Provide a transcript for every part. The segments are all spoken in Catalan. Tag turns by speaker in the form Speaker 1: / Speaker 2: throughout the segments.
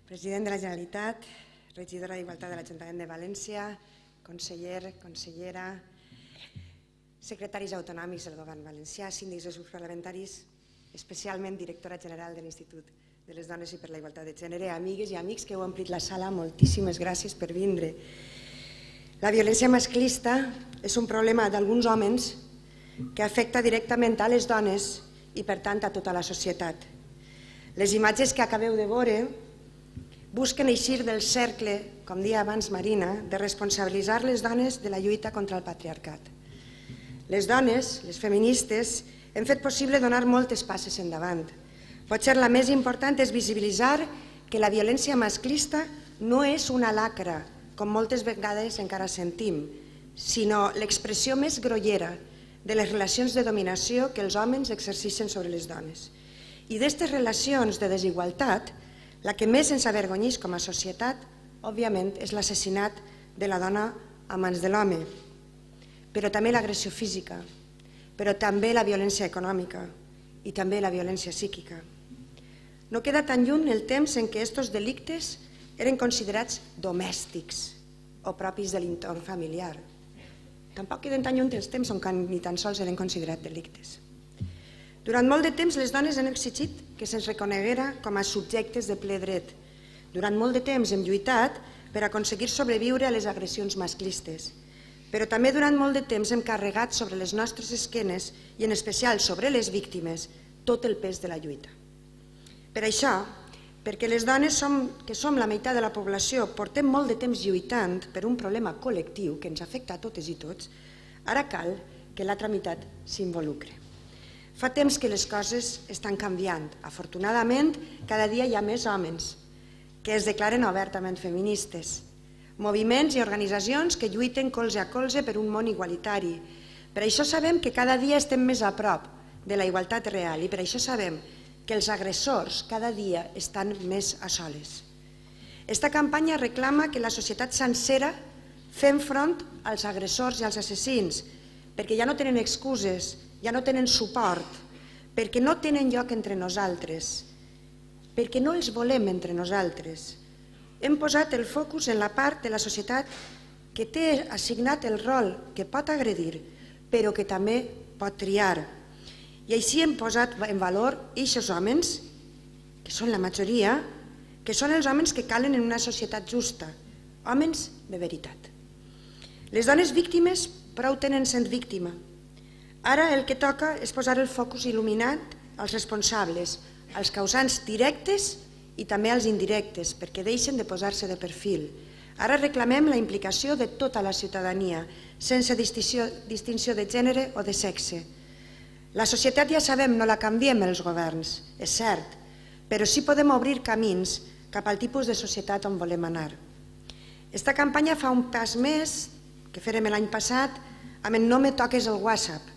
Speaker 1: President de la Generalitat, regidora d'Igualtat de l'Ajuntament de València, conseller, consellera, secretaris autonòmics del Govern valencià, síndics dels grups parlamentaris, especialment directora general de l'Institut de les Dones i per la Igualtat de Gènere, amigues i amics que heu omplit la sala, moltíssimes gràcies per vindre. La violència masclista és un problema d'alguns homes que afecta directament a les dones i, per tant, a tota la societat. Les imatges que acabeu de veure busquen eixir del cercle, com deia abans Marina, de responsabilitzar les dones de la lluita contra el patriarcat. Les dones, les feministes, hem fet possible donar moltes passes endavant. Potser la més important és visibilitzar que la violència masclista no és una lacra, com moltes vegades encara sentim, sinó l'expressió més grollera de les relacions de dominació que els homes exerceixen sobre les dones. I d'aquestes relacions de desigualtat, la que més ens avergonyeix com a societat, òbviament, és l'assassinat de la dona a mans de l'home, però també l'agressió física, però també la violència econòmica i també la violència psíquica. No queda tan lluny el temps en què aquests delictes eren considerats domèstics o propis de l'entorn familiar. Tampoc queden tan lluny els temps on ni tan sols eren considerats delictes. Durant molt de temps les dones han exigit que se'ns reconeguera com a subjectes de ple dret. Durant molt de temps hem lluitat per aconseguir sobreviure a les agressions masclistes, però també durant molt de temps hem carregat sobre les nostres esquenes i en especial sobre les víctimes tot el pes de la lluita. Per això, perquè les dones que som la meitat de la població portem molt de temps lluitant per un problema col·lectiu que ens afecta a totes i tots, ara cal que l'altra meitat s'involucre. Fa temps que les coses estan canviant. Afortunadament, cada dia hi ha més homes que es declaren obertament feministes, moviments i organitzacions que lluiten colze a colze per un món igualitari. Per això sabem que cada dia estem més a prop de la igualtat real i per això sabem que els agressors cada dia estan més a soles. Esta campanya reclama que la societat sencera fem front als agressors i als assassins, perquè ja no tenen excuses, ja no tenen suport, perquè no tenen lloc entre nosaltres, perquè no els volem entre nosaltres. Hem posat el focus en la part de la societat que té assignat el rol que pot agredir, però que també pot triar. I així hem posat en valor aquests homes, que són la majoria, que són els homes que calen en una societat justa, homes de veritat. Les dones víctimes prou tenen sent víctima. Ara el que toca és posar el focus il·luminat als responsables, als causants directes i també als indirectes, perquè deixen de posar-se de perfil. Ara reclamem la implicació de tota la ciutadania, sense distinció de gènere o de sexe. La societat, ja sabem, no la canviem els governs, és cert, però sí podem obrir camins cap al tipus de societat on volem anar. Esta campanya fa un pas més, que fèrem l'any passat, amb el No me toques el WhatsApp.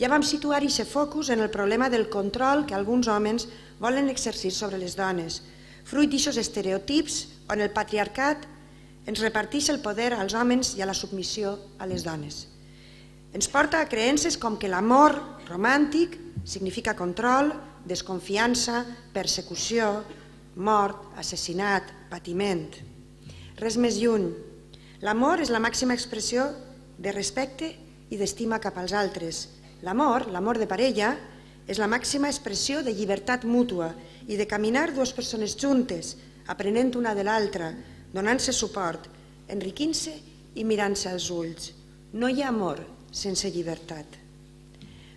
Speaker 1: Ja vam situar aquest focus en el problema del control que alguns homes volen exercir sobre les dones, fruit d'aquests estereotips on el patriarcat ens reparteix el poder als homes i a la submissió a les dones. Ens porta a creences com que l'amor romàntic significa control, desconfiança, persecució, mort, assassinat, patiment. Res més lluny. L'amor és la màxima expressió de respecte i d'estima cap als altres. L'amor de parella, és la màxima expressió de llibertat mútua i de caminar dues persones juntes, aprenent una de l'altra, donant-se suport, enriquint-se i mirant-se als ulls. No hi ha amor sense llibertat.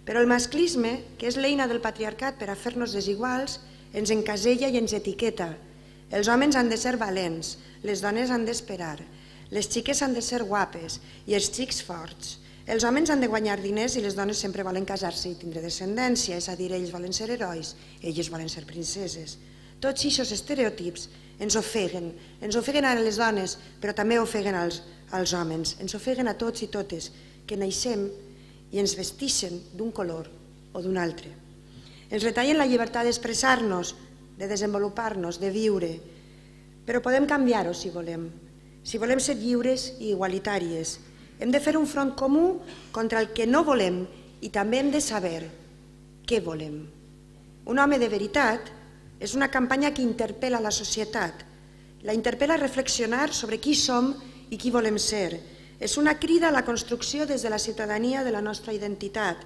Speaker 1: Però el masclisme, que és l'eina del patriarcat per a fer-nos desiguals, ens encasella i ens etiqueta. Els homes han de ser valents, les dones han d'esperar, les xiques han de ser guapes i els xics forts. Els homes han de guanyar diners i les dones sempre volen casar-se i tindre descendència, és a dir, ells volen ser herois, elles volen ser princeses. Tots aquests estereotips ens ofeguen a les dones, però també ofeguen als homes, ens ofeguen a tots i totes, que naixem i ens vestixen d'un color o d'un altre. Ens retallen la llibertat d'expressar-nos, de desenvolupar-nos, de viure, però podem canviar-ho si volem ser lliures i igualitàries. Hem de fer un front comú contra el que no volem i també hem de saber què volem. Un home de veritat és una campanya que interpel·la la societat, La interpel·la a reflexionar sobre qui som i qui volem ser. És una crida a la construcció des de la ciutadania de la nostra identitat.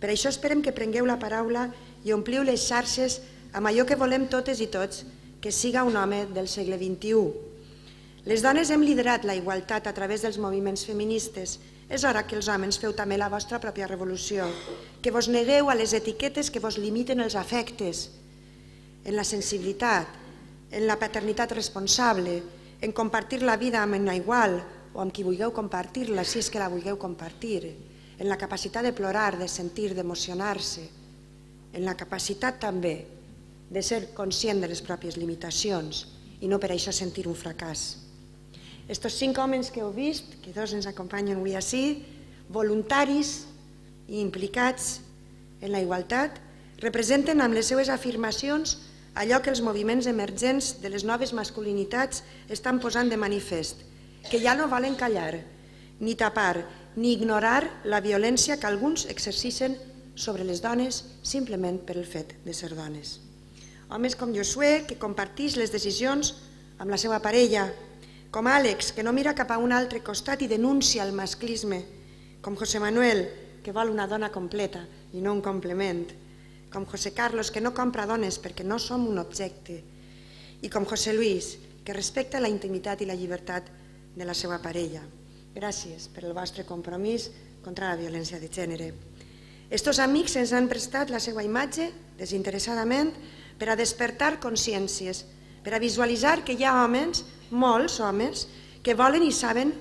Speaker 1: Per això esperem que prengueu la paraula i ompliu les xarxes amb allò que volem totes i tots, que siga un home del segle XXI. Les dones hem liderat la igualtat a través dels moviments feministes. És hora que els homes feu també la vostra pròpia revolució, que vos negueu a les etiquetes que vos limiten els afectes, en la sensibilitat, en la paternitat responsable, en compartir la vida amb una igual o amb qui vulgueu compartir-la, si és que la vulgueu compartir, en la capacitat de plorar, de sentir, d'emocionar-se, en la capacitat també de ser conscient de les pròpies limitacions i no per això sentir un fracàs. Estos 5 homes que heu vist, que 2 ens acompanyen avui ací, voluntaris i implicats en la igualtat, representen amb les seues afirmacions allò que els moviments emergents de les noves masculinitats estan posant de manifest, que ja no volen callar, ni tapar, ni ignorar la violència que alguns exerceixen sobre les dones simplement per el fet de ser dones. Homes com Josué, que comparteix les decisions amb la seva parella, com Àlex, que no mira cap a un altre costat i denuncia el masclisme, com José Manuel, que vol una dona completa i no un complement, com José Carlos, que no compra dones perquè no som un objecte, i com José Luis, que respecta la intimitat i la llibertat de la seva parella. Gràcies per el vostre compromís contra la violència de gènere. Estos amics ens han prestat la seva imatge, desinteressadament, per a despertar consciències, per a visualitzar que hi ha homes, molts homes, que volen i saben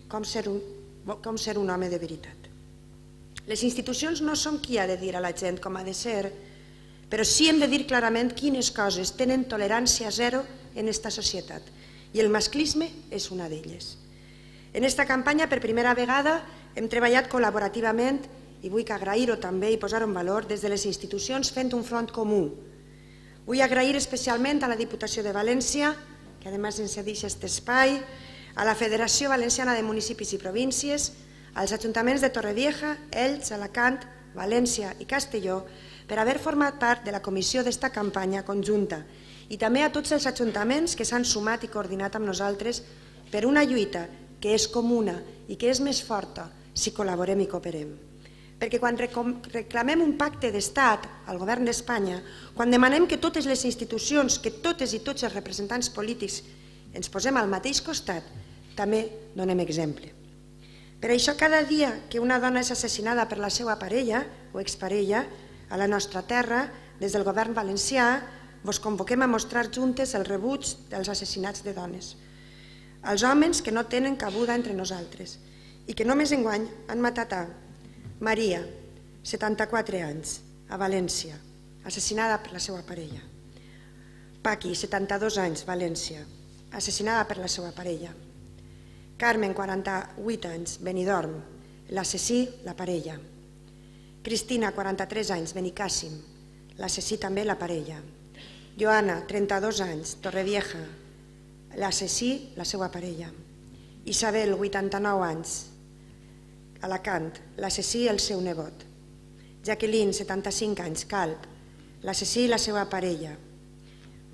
Speaker 1: com ser un home de veritat. Les institucions no són qui ha de dir a la gent com ha de ser, però sí hem de dir clarament quines coses tenen tolerància zero en aquesta societat, i el masclisme és una d'elles. En aquesta campanya, per primera vegada, hem treballat col·laborativament, i vull agrair-ho també i posar-ho en valor, des de les institucions fent un front comú. Vull agrair especialment a la Diputació de València, que a més ens cedeix aquest espai, a la Federació Valenciana de Municipis i Províncies, als ajuntaments de Torrevieja, Elx, Alacant, València i Castelló, per haver format part de la comissió d'esta campanya conjunta, i també a tots els ajuntaments que s'han sumat i coordinat amb nosaltres per una lluita que és comuna i que és més forta si col·laborem i cooperem. Perquè quan reclamem un pacte d'estat al govern d'Espanya, quan demanem que totes les institucions, que totes i tots els representants polítics ens posem al mateix costat, també donem exemple. Per això, cada dia que una dona és assassinada per la seva parella o exparella a la nostra terra, des del govern valencià, vos convoquem a mostrar juntes el rebuig dels assassinats de dones. Els homes que no tenen cabuda entre nosaltres i que només enguany han matat a Maria, 74 anys, a València, assassinada per la seva parella. Paqui, 72 anys, València, assassinada per la seva parella. Carmen, 48 anys, Benidorm, l'assassí, la parella. Cristina, 43 anys, Benicàssim, l'assassí també la parella. Joana, 32 anys, Torrevieja, l'assassí, la seva parella. Isabel, 89 anys, Alacant, l'assassí, el seu nebot. Jacqueline, 75 anys, Calp, l'assassí, la seva parella.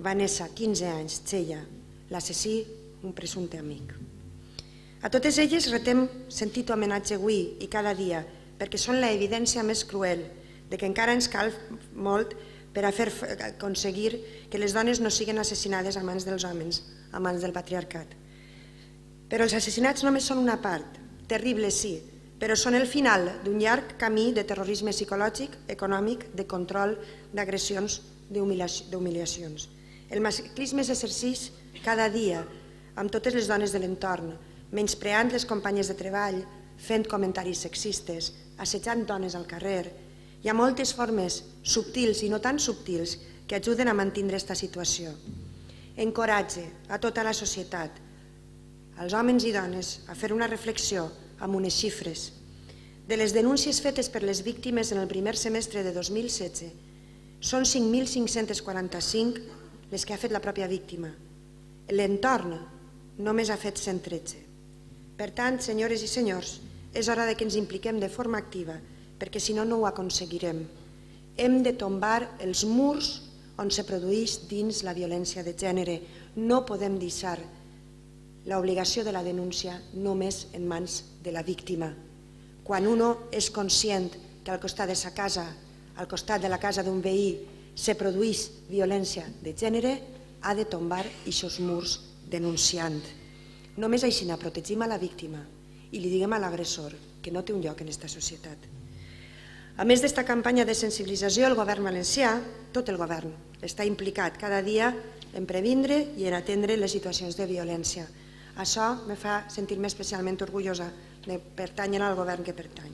Speaker 1: Vanessa, 15 anys, Txella, l'assassí, un presumpte amic. A totes elles retem sentit homenatge avui i cada dia, perquè són l'evidència més cruel de que encara ens cal molt per a fer aconseguir que les dones no siguin assassinades a mans dels homes, a mans del patriarcat. Però els assassinats només són una part, terrible sí, però són el final d'un llarg camí de terrorisme psicològic, econòmic, de control, d'agressions, d'humiliacions. El masclisme s'exerceix cada dia amb totes les dones de l'entorn, menyspreant les companyes de treball, fent comentaris sexistes, assetjant dones al carrer. Hi ha moltes formes subtils i no tan subtils que ajuden a mantenir aquesta situació. Encoratge a tota la societat, als homes i dones, a fer una reflexió amb unes xifres. De les denúncies fetes per les víctimes en el primer semestre de 2016, són 5.545 les que ha fet la pròpia víctima. L'entorn només ha fet 113. Per tant, senyores i senyors, és hora que ens impliquem de forma activa, perquè si no, no ho aconseguirem. Hem de tombar els murs on se produeix dins la violència de gènere. No podem deixar l'obligació de la denúncia només en mans de la víctima. Quan uno és conscient que al costat de sa casa, al costat de la casa d'un veí, se produeix violència de gènere, ha de tombar aquests murs denunciant. Només així protegim a la víctima i li diguem a l'agressor que no té un lloc en aquesta societat. A més d'esta campanya de sensibilització, el govern valencià, tot el govern, està implicat cada dia en previndre i en atendre les situacions de violència. Això me fa sentir-me especialment orgullosa de pertànyer al govern que pertany.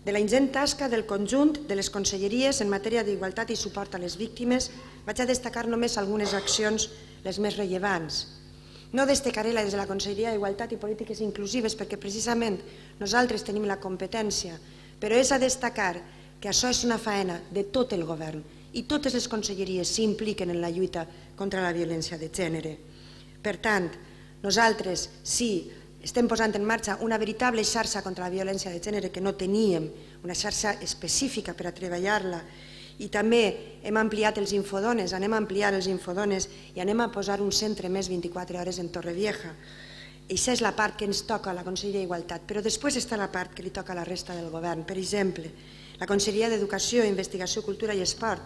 Speaker 1: De la ingent tasca del conjunt de les conselleries en matèria d'igualtat i suport a les víctimes, vaig a destacar només algunes accions, les més rellevants. No destacaré la des de la Conselleria d'Igualtat i Polítiques Inclusives perquè precisament nosaltres tenim la competència, però és a destacar que això és una faena de tot el govern i totes les conselleries s'impliquen en la lluita contra la violència de gènere. Per tant, nosaltres sí estem posant en marxa una veritable xarxa contra la violència de gènere que no teníem, una xarxa específica per a treballar-la, i també hem ampliat els infodones, anem a ampliar els infodones i anem a posar un centre més 24 hores en Torrevieja. Això és la part que ens toca a la Conselleria d'Igualtat, però després està la part que li toca a la resta del govern. Per exemple, la Conselleria d'Educació, Investigació, Cultura i Esport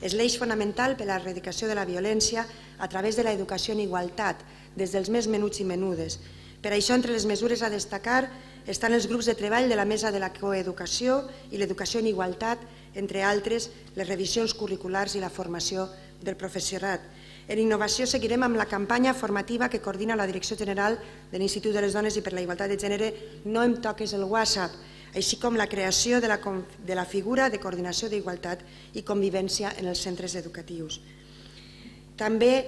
Speaker 1: és l'eix fonamental per a l'erradicació de la violència a través de l'educació en igualtat, des dels més menuts i menudes. Per això, entre les mesures a destacar estan els grups de treball de la Mesa de la Coeducació i l'Educació en Igualtat, entre altres, les revisions curriculars i la formació del professorat. En innovació seguirem amb la campanya formativa que coordina la Direcció General de l'Institut de les Dones i per la Igualtat de Gènere No em toques el WhatsApp, així com la creació de la figura de coordinació d'igualtat i convivència en els centres educatius. També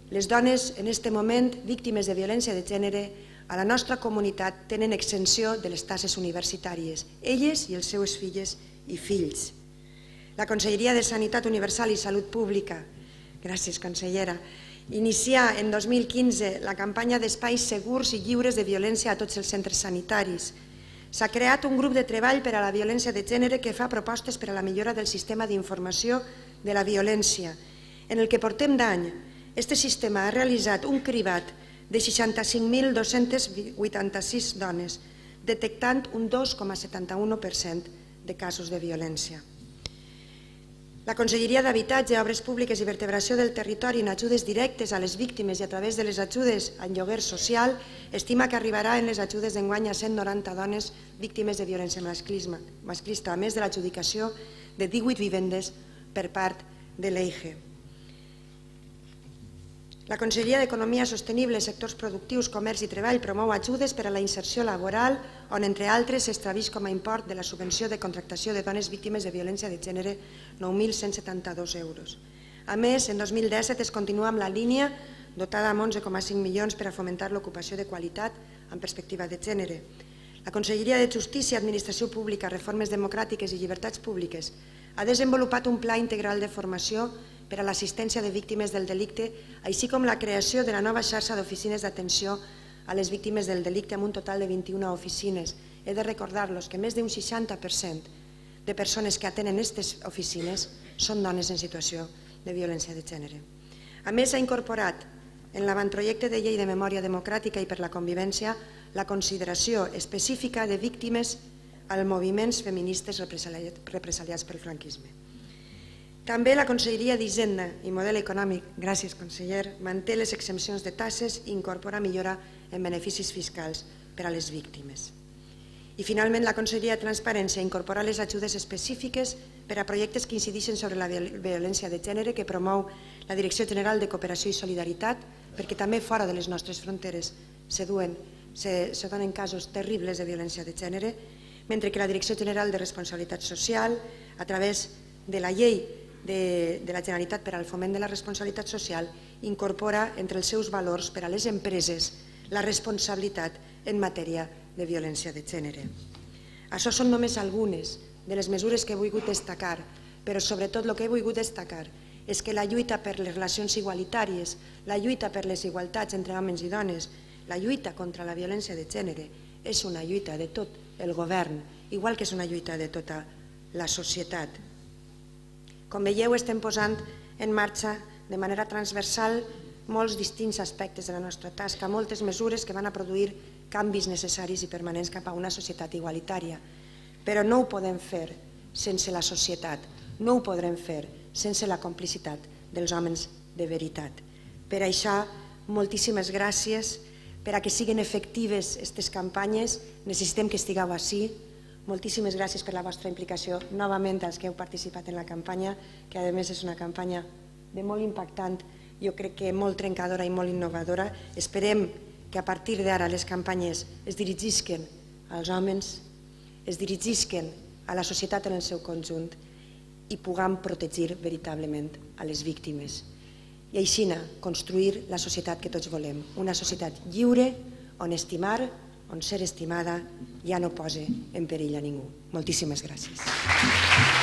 Speaker 1: les dones en aquest moment víctimes de violència de gènere a la nostra comunitat tenen exenció de les taxes universitàries, elles i els seus filles i fills. La Conselleria de Sanitat Universal i Salut Pública, gràcies consellera, inicià en 2015 la campanya d'espais segurs i lliures de violència a tots els centres sanitaris. S'ha creat un grup de treball per a la violència de gènere que fa propostes per a la millora del sistema d'informació de la violència. En el que portem d'any, aquest sistema ha realitzat un cribat de 65.286 dones, detectant un 2,71% de casos de violència. La Conselleria d'Habitatge, Obres Públiques i Vertebració del Territori en ajudes directes a les víctimes i a través de les ajudes en lloguer social estima que arribarà en les ajudes d'enguany a 190 dones víctimes de violència masclista, a més de l'adjudicació de 18 vivendes per part de l'EIGE. La Conselleria d'Economia Sostenible, Sectors Productius, Comerç i Treball promou ajudes per a la inserció laboral on, entre altres, s'estableix com a import de la subvenció de contractació de dones víctimes de violència de gènere 9.172 euros. A més, en 2017 es continua amb la línia dotada amb 11,5 milions per a fomentar l'ocupació de qualitat en perspectiva de gènere. La Conselleria de Justícia, Administració Pública, Reformes Democràtiques i Llibertats Públiques ha desenvolupat un pla integral de formació per a l'assistència de víctimes del delicte, així com la creació de la nova xarxa d'oficines d'atenció a les víctimes del delicte amb un total de 21 oficines. He de recordar-los que més d'un 60% de persones que atenen aquestes oficines són dones en situació de violència de gènere. A més, s'ha incorporat en l'avantprojecte de llei de memòria democràtica i per la convivència la consideració específica de víctimes als moviments feministes represaliats pel franquisme. També la Conselleria d'Hisenda i Model Econòmic, gràcies conseller, manté les exempcions de taxes i incorpora millora en beneficis fiscals per a les víctimes. I finalment la Conselleria de Transparència incorpora les ajudes específiques per a projectes que incideixen sobre la violència de gènere que promou la Direcció General de Cooperació i Solidaritat, perquè també fora de les nostres fronteres se donen casos terribles de violència de gènere, mentre que la Direcció General de Responsabilitat Social, a través de la llei de la Generalitat per al foment de la responsabilitat social, incorpora entre els seus valors per a les empreses la responsabilitat en matèria de violència de gènere. Això són només algunes de les mesures que he volgut destacar, però sobretot el que he volgut destacar és que la lluita per les relacions igualitàries, la lluita per les igualtats entre homes i dones, la lluita contra la violència de gènere és una lluita de tot el govern, igual que és una lluita de tota la societat. Com veieu, estem posant en marxa de manera transversal molts distints aspectes de la nostra tasca, moltes mesures que van a produir canvis necessaris i permanents cap a una societat igualitària. Però no ho podem fer sense la societat, no ho podrem fer sense la complicitat dels homes de veritat. Per això, moltíssimes gràcies. Per a que siguin efectives aquestes campanyes necessitem que estigueu ací. Moltíssimes gràcies per la vostra implicació, novament als que heu participat en la campanya, que a més és una campanya de molt impactant, jo crec que molt trencadora i molt innovadora. Esperem que a partir d'ara les campanyes es dirigisquen als homes, es dirigisquen a la societat en el seu conjunt i puguem protegir veritablement a les víctimes. I així construir la societat que tots volem, una societat lliure on estimar, on ser estimada ja no posa en perill a ningú. Moltíssimes gràcies.